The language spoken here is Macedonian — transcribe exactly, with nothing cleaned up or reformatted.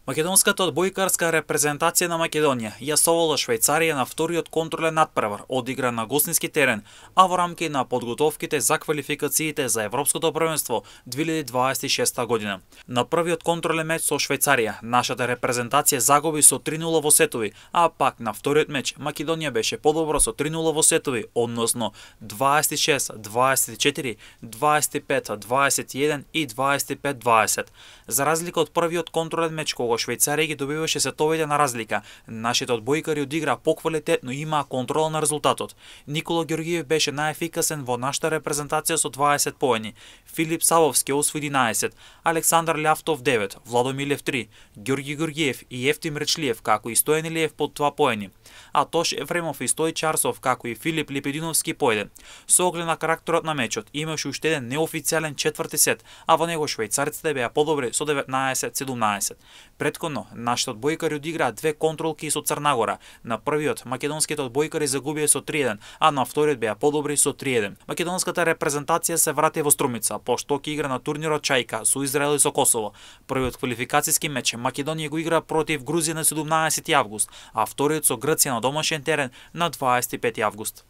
Македонската одбојкарска репрезентација на Македонија ја совола Швајцарија на вториот контролен натпревар, одигра на гостински терен, а во рамки на подготовките за квалификациите за Европското првенство две илјади дваесет и шеста година. На првиот контролен меч со Швајцарија, нашата репрезентација загуби со три нула во сетови, а пак на вториот меч Македонија беше подобро со три нула во сетови, односно дваесет и шест дваесет и четири, дваесет и пет дваесет и еден и дваесет и пет дваесет. За разлика од првиот контролен меч кога Швајцарија ги добиваше сетовите на разлика, нашите одбојкари одигра поквалитетно и имаа контрола на резултатот. Никола Ѓорѓиев беше најефикасен во нашата репрезентација со дваесет поени, Филип Савовски освои единаесет, Александар Љавтов девет, Владо Милев три, Ѓорѓи Ѓорѓиев и Ефтим Речлиев како и Стојан Илиев по два поени, а Тош Ефремов и Стој Чарсов како и Филип Лепединовски по еден. Со оглед на карактерот на мечот имаше уште еден неофицијален четврти сет, а во него швајцарците беа подобри со деветнаесет седумнаесет. Предходно, нашите одбојкари одиграа две контролки со Црнагора. На првиот македонските одбојкари загубија со три еден, а на вториот беа подобри со три еден. Македонската репрезентација се врати во Струмица, пошто ќе игра на турнирот Чајка со Израел и со Косово. Првиот квалификацијски меч Македонија го игра против Грузија на седумнаесети август, а вториот со Грција на домашен терен на дваесет и пети август.